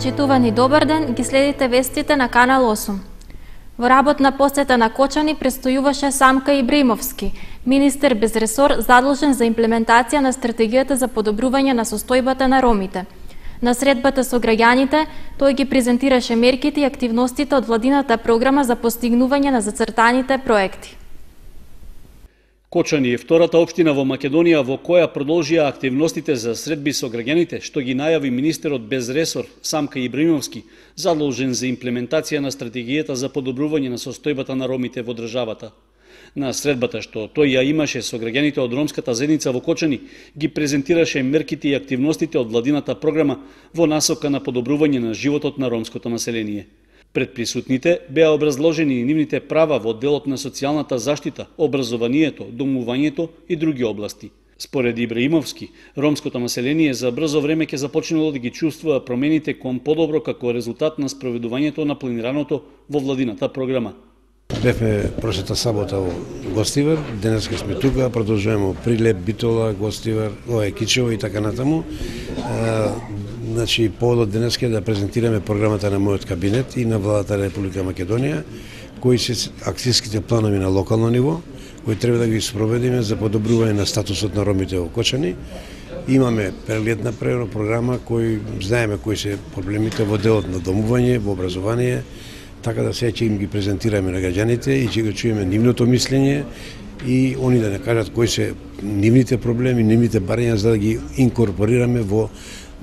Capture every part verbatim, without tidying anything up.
Почитувани добар ден, ги следите вестите на Канал осум. Во работна посета на Кочани престојуваше Самка Ибраимовски, министер без ресор задолжен за имплементација на стратегијата за подобрување на состојбата на ромите. На средбата со граѓаните, тој ги презентираше мерките и активностите од владината програма за постигнување на зацртаните проекти. Кочани е втората општина во Македонија во која продолжија активностите за средби со граѓаните, што ги најави министерот без ресор Самка Ибраимовски, задолжен за имплементација на стратегијата за подобрување на состојбата на ромите во државата. На средбата што тој ја имаше со граѓаните од ромската заедница во Кочани, ги презентираше мерките и активностите од владината програма во насока на подобрување на животот на ромското население. Пред присутните беа образложени и нивните права во делот на социјалната заштита, образованието, домувањето и други области. Според Ибраимовски, ромското население за брзо време ќе започнело да ги чувствува промените кон подобро како резултат на спроведувањето на планираното во владината програма. Бевме прошлата сабота во Гостивар, денеска сме тука, продолжуваме Прилеп, Битола, Гостивар, ова Кичево и така натаму. Значи, поводот денеска е да презентираме програмата на мојот кабинет и на владата на Република Македонија, кои се акцијските планови на локално ниво, кои треба да ги спроведиме за подобрување на статусот на ромите во Кочани. Имаме прегледна програма кој знаеме кои се проблемите во делот на домување, во образование, така да сега ќе им ги презентираме на граѓаните и ќе го чуеме нивното мислење и они да не кажат кои се нивните проблеми, нивните барања за да ги инкорпорираме во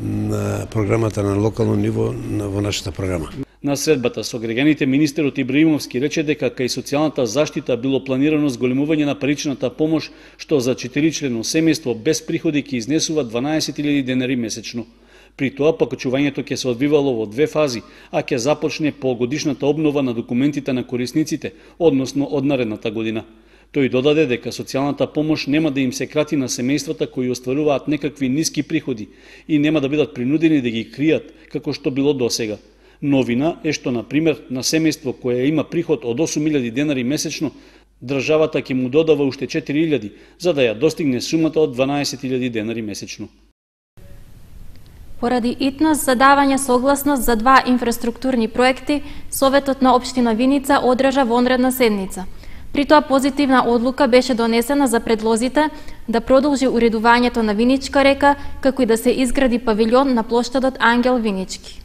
на програмата на локално ниво во нашата програма. На средбата со граѓаните министерот Ибраимовски рече дека кај социјалната заштита било планирано зголемување на паричната помош, што за четиричлено семејство без приходи ќе изнесува дванаесет илјади денари месечно. При тоа покачувањето ќе се одвивало во две фази, а ќе започне по годишната обнова на документите на корисниците, односно од наредната година. Тој додаде дека социјалната помош нема да им се крати на семејствата кои остваруваат некакви ниски приходи и нема да бидат принудени да ги кријат, како што било досега. Новина е што, на пример, на семејство кое има приход од осум илјади денари месечно, државата ќе му додава уште четири илјади, за да ја достигне сумата од дванаесет илјади денари месечно. Поради итност за давање согласност за два инфраструктурни проекти, Советот на општина Виница одржа вонредна седница. При тоа позитивна одлука беше донесена за предлозите да продолжи уредувањето на Виничка река, како и да се изгради павилјон на плоштадот Ангел Винички.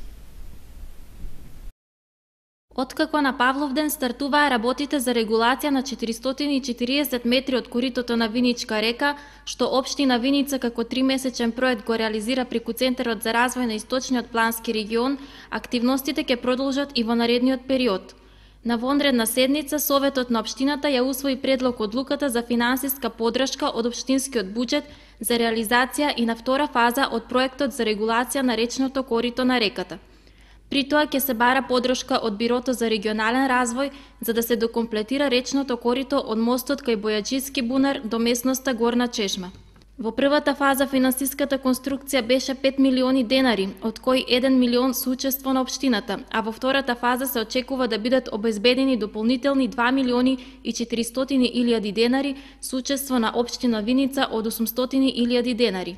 Откако на Павловден стартуваа работите за регулација на четиристотини и четириесет метри од коритото на Виничка река, што општина Виница како тримесечен проект го реализира преку Центарот за развој на Источниот плански регион, активностите ќе продолжат и во наредниот период. На вонредна седница, Советот на општината ја усвои предлог одлуката за финансиска поддршка од општинскиот буџет за реализација и на втора фаза од проектот за регулација на речното корито на реката. При тоа ќе се бара поддршка од Бирото за регионален развој за да се докомплетира речното корито од мостот кај Бојаджиски бунар до местноста Горна Чешма. Во првата фаза финансиската конструкција беше пет милиони денари, од кои еден милион со учество на општината, а во втората фаза се очекува да бидат обезбедени дополнителни два милиони и четиристотини илјади денари со учество на општина Виница од осумстотини илјади денари.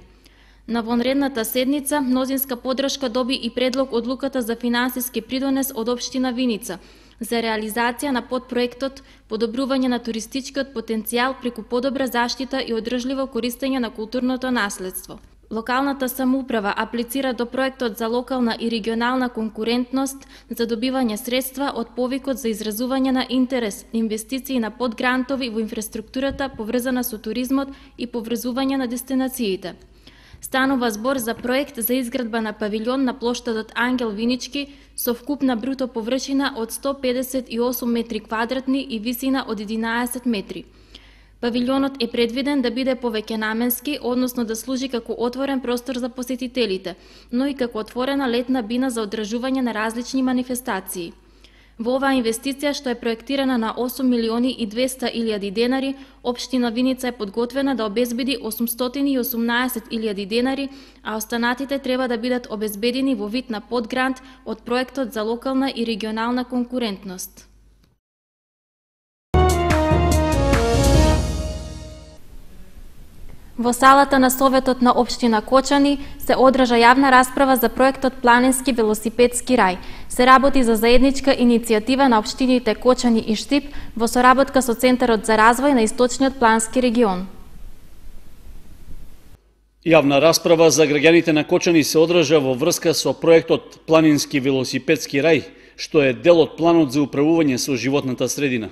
На вонредната седница мнозинска поддршка доби и предлог одлуката за финансиски придонес од општина Виница за реализација на подпроектот подобрување на туристичкиот потенцијал преку подобра заштита и одржливо користење на културното наследство. Локалната самоуправа аплицира до проектот за локална и регионална конкурентност за добивање средства од повикот за изразување на интерес, инвестиции на подгрантови во инфраструктурата поврзана со туризмот и поврзување на дестинациите. Станува збор за проект за изградба на павилјон на плоштадот Ангел Винички со вкупна бруто површина од сто педесет и осум метри квадратни и висина од единаесет метри. Павилјонот е предвиден да биде повеќенаменски, односно да служи како отворен простор за посетителите, но и како отворена летна бина за одржување на различни манифестации. Во оваа инвестиција, што е проектирана на осум милиони и двесте илјади денари, општина Виница е подготвена да обезбеди осумстотини и осумнаесет илјади денари, а останатите треба да бидат обезбедени во вид на подгрант од проектот за локална и регионална конкурентност. Во салата на Советот на општина Кочани се одржа јавна расправа за проектот Планински велосипедски рај. Се работи за заедничка иницијатива на општините Кочани и Штип во соработка со Центарот за развој на Источниот плански регион. Јавна расправа за граѓаните на Кочани се одржа во врска со проектот Планински велосипедски рај, што е дел од планот за управување со животната средина.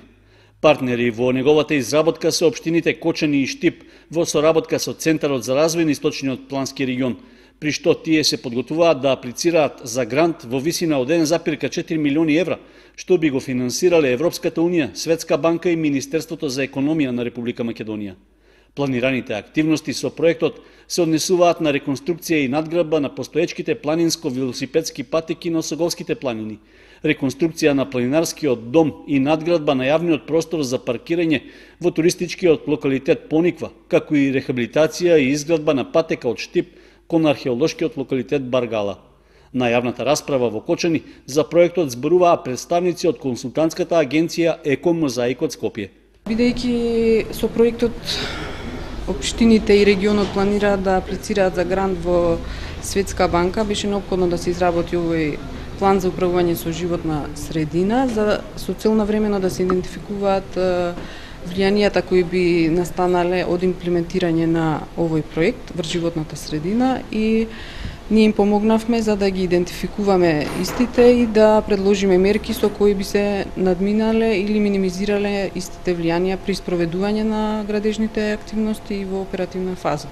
Партнери во неговата изработка се општините Кочани и Штип во соработка со Центарот за развој на Источниот плански регион, при што тие се подготвуваат да аплицираат за грант во висина од еден зарез четири милиони евра, што би го финансирале Европската унија, Светска банка и Министерството за економија на Република Македонија. Планираните активности со проектот се однесуваат на реконструкција и надградба на постоечките планинско-велосипедски патеки на Осоговските планини, реконструкција на планинарскиот дом и надградба на јавниот простор за паркирање во туристичкиот локалитет Пониква, како и рехабилитација и изградба на патека од Штип кон археолошкиот локалитет Баргала. На јавната расправа во Кочани за проектот зборуваа представници од консултантската агенција Екомозаик од Скопје. Бидејќи со проектот општините и регионот планираат да аплицираат за грант во Светска банка, беше неопходно да се изработи овој план за управување со животна средина, за со цел навремено да се идентификуваат влијанијата кои би настанале од имплементирање на овој проект врз животната средина, и ние им помогнавме за да ги идентификуваме истите и да предложиме мерки со кои би се надминале или минимизирале истите влијанија при спроведување на градежните активности и во оперативна фаза.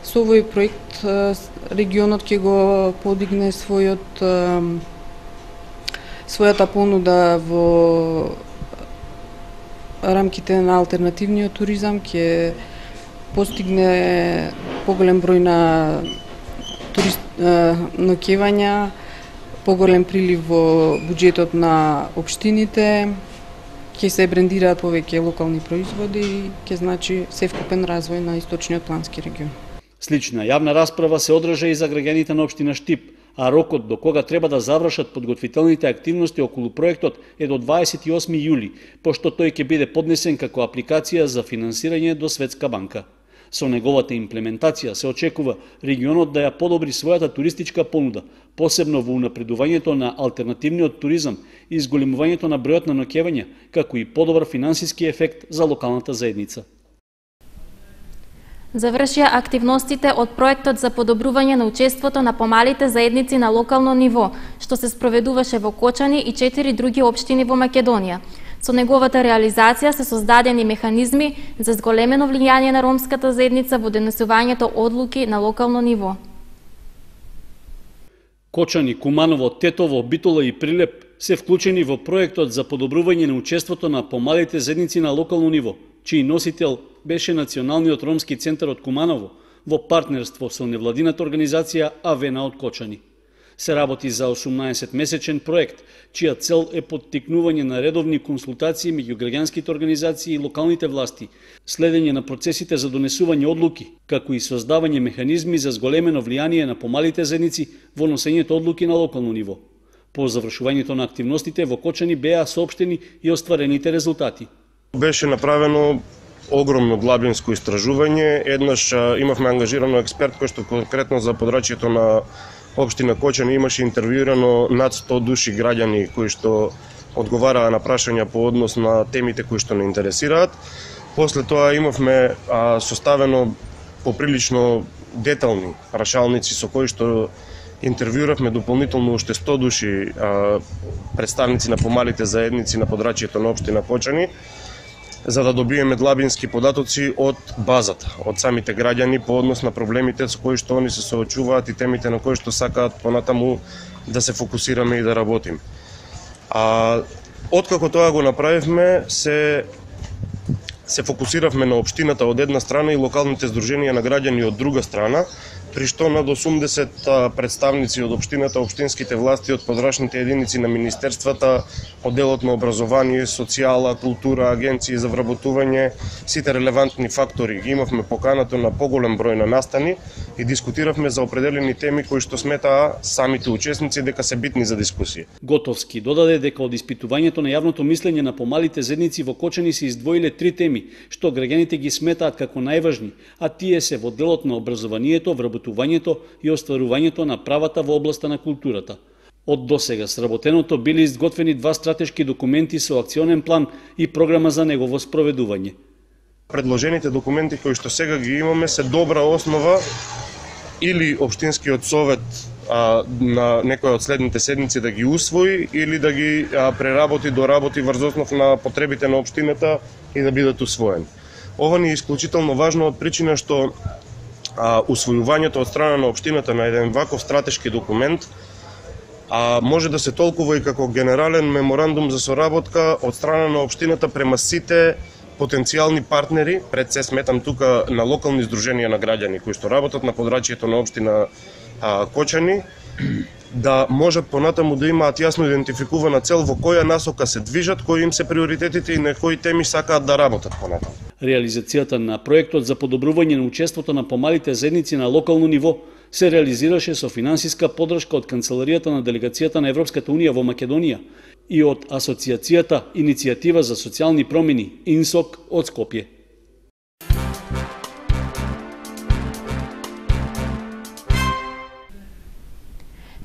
Со овој проект регионот ќе го подигне својот својата понуда во рамките на алтернативниот туризам, ќе постигне поголем број на турист ноќевања, поголем прилив во буџетот на општините, ќе се брендираат повеќе локални производи и ќе значи севкупен развој на Источниот плански регион. Слична јавна расправа се одржа и за граѓаните на општина Штип, а рокот до кога треба да завршат подготвителните активности околу проектот е до дваесет и осми јули, пошто тој ќе биде поднесен како апликација за финансирање до Светска банка. Со неговата имплементација се очекува регионот да ја подобри својата туристичка понуда, посебно во унапредувањето на алтернативниот туризам и зголемувањето на бројот на ноќевања, како и подобар финансиски ефект за локалната заедница. Завршија активностите од проектот за подобрување на учеството на помалите заедници на локално ниво, што се спроведуваше во Кочани и четири други општини во Македонија. Со неговата реализација се создадени механизми за зголемено влијание на ромската заедница во донесувањето одлуки на локално ниво. Кочани, Куманово, Тетово, Битола и Прилеп се вклучени во проектот за подобрување на учеството на помалите заедници на локално ниво, чиј носител беше Националниот ромски центар од Куманово во партнерство со невладината организација Авена од Кочани. Се работи за осумнаесет месечен проект, чија цел е поттикнување на редовни консултации меѓу граѓанските организации и локалните власти, следење на процесите за донесување одлуки, како и создавање механизми за зголемено влијание на помалите заедници во носењето одлуки на локално ниво. По завршувањето на активностите во Кочани беа соопштени и остварените резултати. Беше направено огромно длабинско истражување. Еднаш имавме ангажирано експерт кој што конкретно за подрачјето на општина Кочани имаше интервјуирано над сто души граѓани кои што одговараа на прашања по однос на темите кои што не интересираат. После тоа имавме а, составено поприлично детални прашалници со кои што интервјуравме дополнително уште сто души а, представници на помалите заедници на подрачјето на општина Кочани, за да добиеме длабински податоци од базата, од самите граѓани по однос на проблемите со кои што они се соочуваат и темите на кои што сакаат понатаму да се фокусираме и да работиме. А откако тоа го направивме, се се фокусиравме на општината од една страна и локалните здруженија на граѓани од друга страна, при што над осумдесет представници од општината, општинските власти, од подрачните единици на министерствата, одделот на образование, социјала, култура, агенции за вработување, сите релевантни фактори ги имавме поканато на поголем број на настани и дискутиравме за определени теми кои што сметаа самите учесници дека се битни за дискусија. Готовски додаде дека од испитувањето на јавното мислење на помалите заедници во Кочани се издвоиле три теми што граѓаните ги сметаат како најважни, а тие се во делот на образованието, вработувањето и остварувањето на правата во областа на културата. Од досега сработеното биле изготвени два стратешки документи со акционен план и програма за негово спроведување. Предложените документи кои што сега ги имаме се добра основа или општинскиот совет а, на некоја од следните седмици да ги усвои или да ги а, преработи, доработи врз основ на потребите на општината и да бидат усвоени. Ова ни е исклучително важно од причина што а, усвојувањето од страна на општината на еден ваков стратешки документ а, може да се толкува и како генерален меморандум за соработка од страна на општината према сите потенцијални партнери, пред се сметам тука на локални здруженија на граѓани кои што работат на подрачјето на општина а, Кочани, да можат понатаму да имаат јасно идентификувана цел во која насока се движат, кои им се приоритетите и на кои теми сакаат да работат понатаму. Реализацијата на проектот за подобрување на учеството на помалите заедници на локално ниво се реализираше со финансиска поддршка од Канцеларијата на Делегацијата на Европската Унија во Македонија и од Асоцијацијата Иницијатива за социјални промени ИНСОК од Скопје.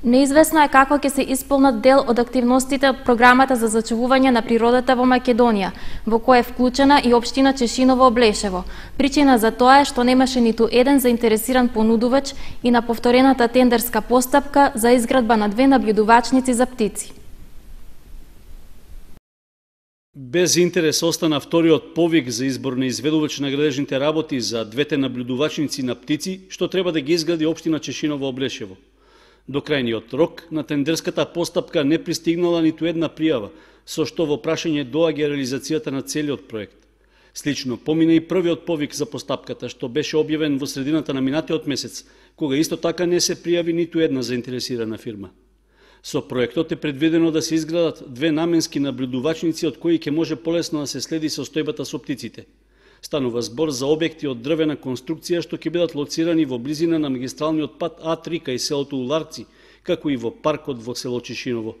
Неизвестно е како ќе се исполнат дел од активностите од програмата за зачувување на природата во Македонија, во која е вклучена и општина Чешиново Облешево. Причина за тоа е што немаше ниту еден заинтересиран понудувач и на повторената тендерска постапка за изградба на две наблюдувачници за птици. Без интерес остана вториот повик за избор на изведувач на градежните работи за двете наблюдувачници на птици, што треба да ги изгради општина Чешиново Облешево. До крајниот рок на тендерската постапка не пристигнала ниту една пријава, со што во прашање доаѓа реализацијата на целиот проект. Слично помина и првиот повик за постапката, што беше објавен во средината на минатиот месец, кога исто така не се пријави ниту една заинтересирана фирма. Со проектот е предвидено да се изградат две наменски наблюдувачници од кои ќе може полесно да се следи состојбата со птиците. Станува збор за објекти од дрвена конструкција што ќе бидат лоцирани во близина на магистралниот пат А три кај селото Уларци, како и во паркот во село Чешиново.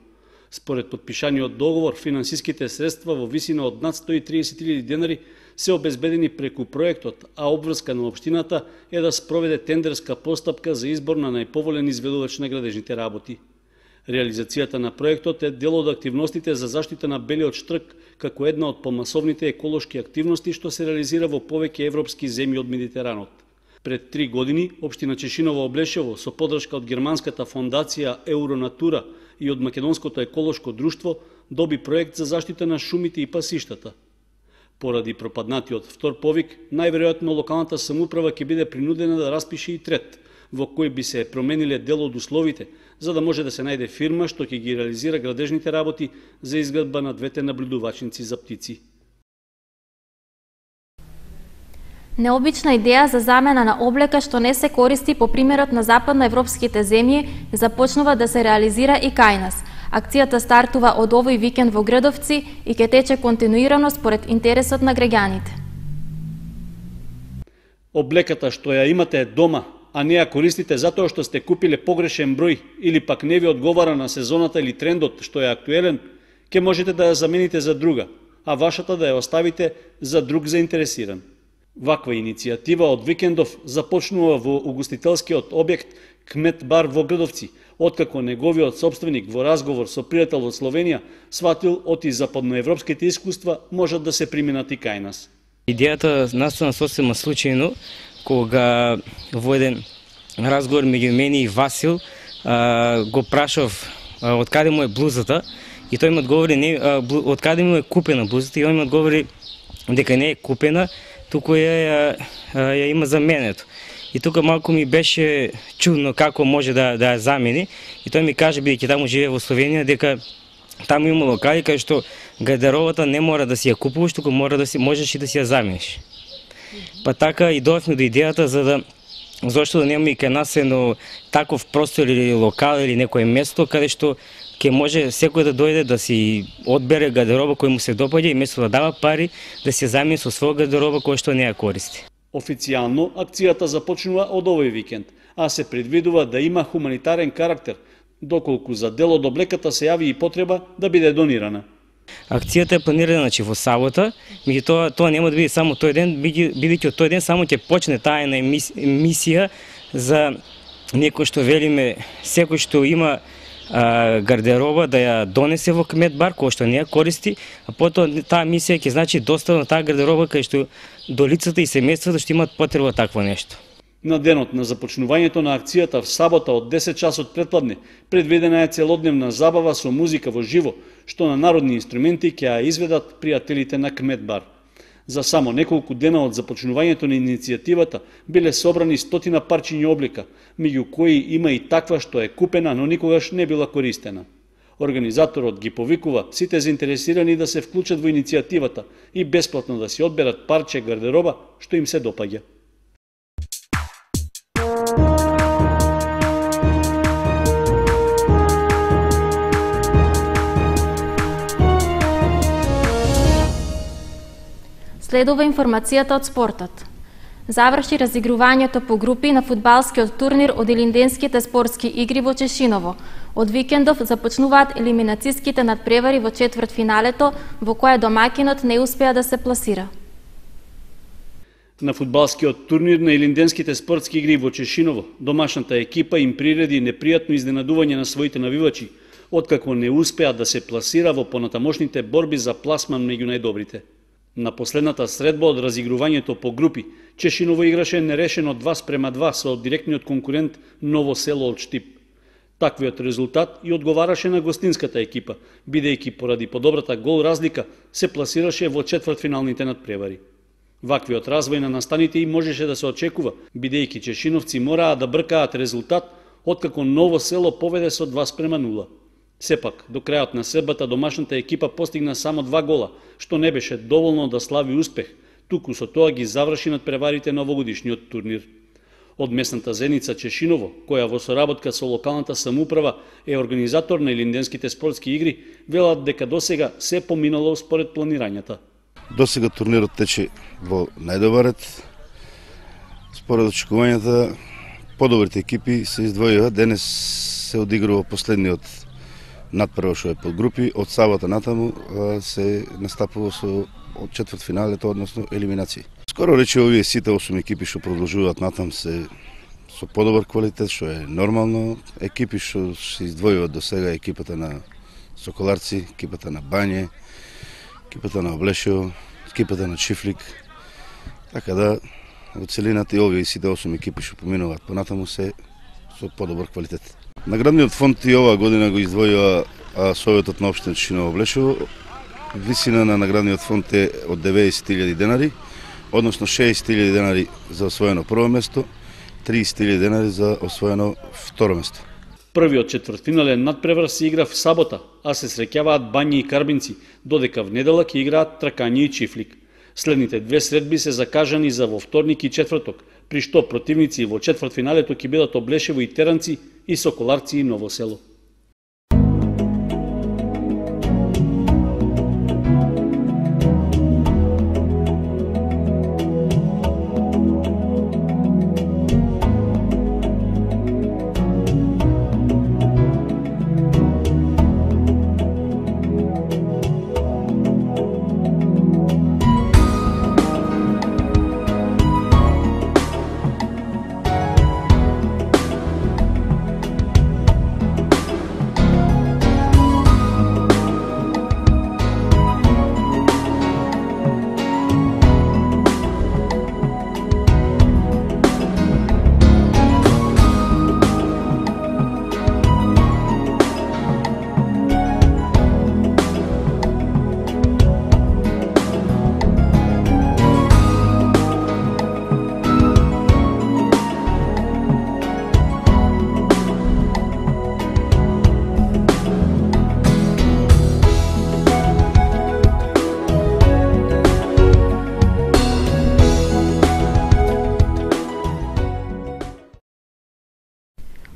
Според подпишаниот договор, финансиските средства во висина од над сто и триесет илјади денари се обезбедени преку проектот, а обврска на општината е да спроведе тендерска постапка за избор на најповолен изведувач на градежните работи. Реализацијата на проектот е дел од активностите за заштита на белиот штрк, како една од помасовните еколошки активности што се реализира во повеќе европски земји од Медитеранот. Пред три години, општина Чешиново Облешево, со поддршка од германската фондација Евронатура и од Македонското еколошко друштво, доби проект за заштита на шумите и пасиштата. Поради пропаднатиот втор повик, најверојатно локалната самоуправа ќе биде принудена да распише и трет, во кој би се промениле дел од условите, за да може да се најде фирма што ќе ги реализира градежните работи за изградба на двете наблюдувачници за птици. Необична идеја за замена на облека што не се користи по примерот на западноевропските земји започнува да се реализира и кај нас. Акцијата стартува од овој викенд во Гредовци и ќе тече континуирано според интересот на граѓаните. Облеката што ја имате дома, а не ја користите затоа што сте купиле погрешен број или пак не ви одговара на сезоната или трендот што е актуелен, ќе можете да ја замените за друга, а вашата да ја оставите за друг заинтересиран. Ваква иницијатива од викендов започнува во угостителскиот објект Кмет бар во Гредовци, откако неговиот собственик во разговор со пријател од Словенија сватил оти западноевропските искуства можат да се применат и кај нас. Идејата настана сосема случајно, кога во еден разговор меѓу мене и Васил а, го прашав а, од каде му е блузата и тој ми одговори не, а, блу, од каде му е купена блузата и он ми одговори дека не е купена, туку ја, ја, ја има заменето. И тука малку ми беше чудно како може да, да ја замени и тој ми каже, бидејќи таму живее во Словенија, дека таму има локали кај што гардеробата не мора да си ја купуваш, туку мора да си можеш и да си ја замениш. Па така и дојавме до идејата за да зошто да немаме и кај нас едно таков простор или локал или некое место каде што ќе може секој да дојде да си одбере гардероба кој му се допаѓа и место да дава пари да се замени со своја гардероба која што не ја користи. Официјално акцијата започнува од овој викенд, а се предвидува да има хуманитарен карактер, доколку за дел од облеката се јави и потреба да биде донирана. Акцијата е планирана значи во сабота, меѓутоа тоа нема да биде само тој ден, бидејќи од тој ден само ќе почне таа една емисија за некој што велиме секој што има а, гардероба да ја донесе во кмет бар кој што не ја користи, а потоа таа мисија ќе значи доставна таа гардероба кај што до лицата и семејствата што имаат потреба такво нешто. На денот на започнувањето на акцијата в сабота од десет часот предпладне предвидена е целодневна забава со музика во живо, што на народни инструменти ќе ја изведат пријателите на кмет бар. За само неколку дена од започнувањето на иницијативата биле собрани стотина парчиња облека, меѓу кои има и таква што е купена, но никогаш не била користена. Организаторот ги повикува сите заинтересирани да се вклучат во иницијативата и бесплатно да си одберат парче гардероба што им се допаѓа. Следува информацијата од спортот. Заврши разигрувањето по групи на фудбалскиот турнир од Илинденските спортски игри во Чешиново. Од викендов започнуваат елиминацијските надпревари во четвртфиналето, во кое домакинот не успеа да се пласира. На фудбалскиот турнир на Илинденските спортски игри во Чешиново, домашната екипа им приреди непријатно изненадување на своите навивачи, откако не успеа да се пласира во понатамошните борби за пласман меѓу најдобрите. На последната средба од разигрувањето по групи, Чешиново играше нерешено два спрема два со директниот конкурент Ново село од Штип. Таквиот резултат и одговараше на гостинската екипа, бидејќи поради подобрата гол разлика се пласираше во четвртфиналните надпревари. Ваквиот развој на настаните и можеше да се очекува, бидејќи чешиновци мораа да бркаат резултат, откако Ново село поведе со два спрема нула. Сепак, до крајот на средбата домашната екипа постигна само два гола, што не беше доволно да слави успех, туку со тоа ги заврши надпреварите на овогодишниот турнир. Од местната заедница Чешиново, која во соработка со локалната самоуправа е организатор на Илинденските спортски игри, велат дека досега се поминало според планирањата. Досега турнирот тече во најдобар ред. Според очекувањата, подобрите екипи се издвојува. Денес се одигрува последниот надпрва што е под групи. Од сабота натаму се настапува со од четвртфиналето, односно елиминации. Скоро рече овие сите осум екипи што продолжуваат натам се со подобар квалитет, што е нормално. Екипи што се издвојуваат до сега, екипата на Соколарци, екипата на Бање, екипата на Облешево, екипата на Чифлик. Така да, во целината и овие сите осум екипи што поминуваат понатаму се со подобар квалитет. Наградниот фонд и оваа година го издвојува Советот на општина Чешиново Облешево. Висина на наградниот фонд е од деветдесет илјади денари, односно шеесет илјади денари за освоено прво место, триесет илјади денари за освоено второ место. Првиот четвртфинален надпревар се игра в сабота, а се среќаваат Бањи и Карбинци, додека внедела ќе играат Тракање и Чифлик. Следните две средби се закажани за во вторник и четврток, при што противници во четвртфиналето ќе бидат Облешево и Теранци и Соколарци и Ново село.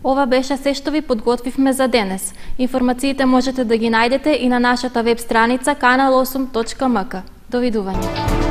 Ова беше се што ви подготвивме за денес. Информациите можете да ги најдете и на нашата веб страница канал осум точка ем ка. Довидување.